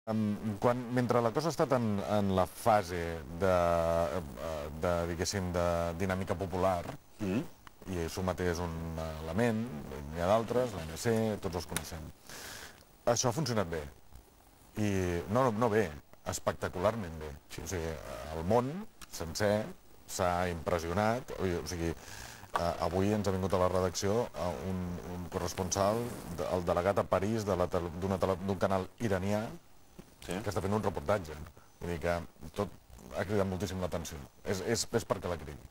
Mentre la cosa ha estat en la fase diguéssim, de dinàmica popular, i Sumater és un element, n'hi ha d'altres, l'ANC, tots els coneixem. Això ha funcionat bé. I no bé, espectacularment bé. O sigui, el món sencer s'ha impressionat. O sigui, avui ens ha vingut a la redacció un corresponsal, el delegat a París d'un canal iranià, que està fent un reportatge. Vull dir que tot ha cridat moltíssim l'atenció. És perquè la cridi.